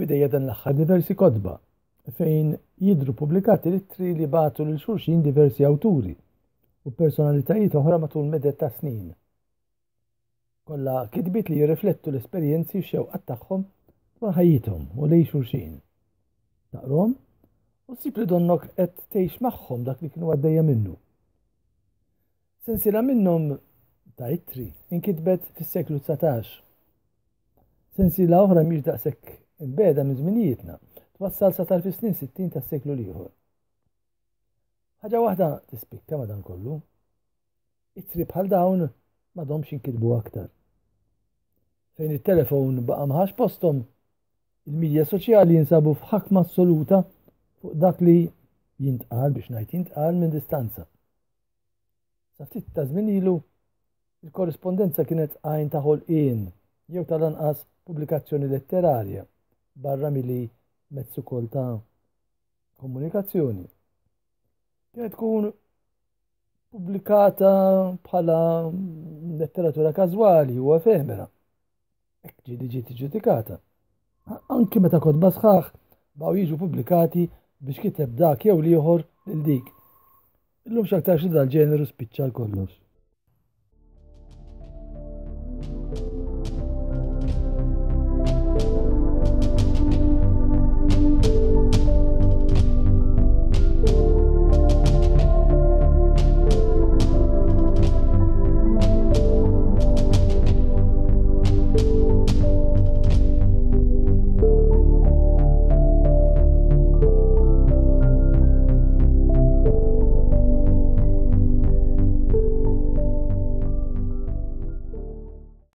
f'idejja dan l-aħħar diversi kotba fejn jidhru pubblikati l-ittri li bagħtu lil xulxin diversi awturi u personalitajiet oħra matul meded ta' snin. Kollha kitbiet li jirriflettu l-esperjenzi u x-xewqat tagħhom dwar ħajjithom u lejn xulxin. Taqrahom u ssib li donnok qed tgħix magħhom dak li kienu għaddejja minnu. Sensiela minnhom ta' ittri inkitbet fis-seklu 19. Sensiela oħra mhix daqshekk imbegħda minn żminijietna, twassal sa tarf is-snin 60 tas-seklu l-ieħor. Ħaġa waħda tispikka madankollu. Ittri bħal dawn m'għadhomx jinkitbu aktar. Fejn it-telefon baqa' ma ħax posthom, il-midja soċjali jinsabu f'ħakma assoluta fuq dak li jintqal biex ngħid jintqal minn distanza. Sa ftit ta' żmien ilu, il-korrispondenza kienet għajn ta' ħolqien jew tal-anqas pubblikazzjoni letterarja barra milli mezz ukoll ta' komunikazzjoni. Kienet tkun pubblikata bħala letteratura każwali u efemera. Hekk ġieli ġiet iġġudikata. Anki meta kotba sħaħ baqgħu jiġu pubblikati biex kiteb dak jew l-ieħor lil dik. Illum x'aktarx li dal-ġeneru spiċċa l kollox.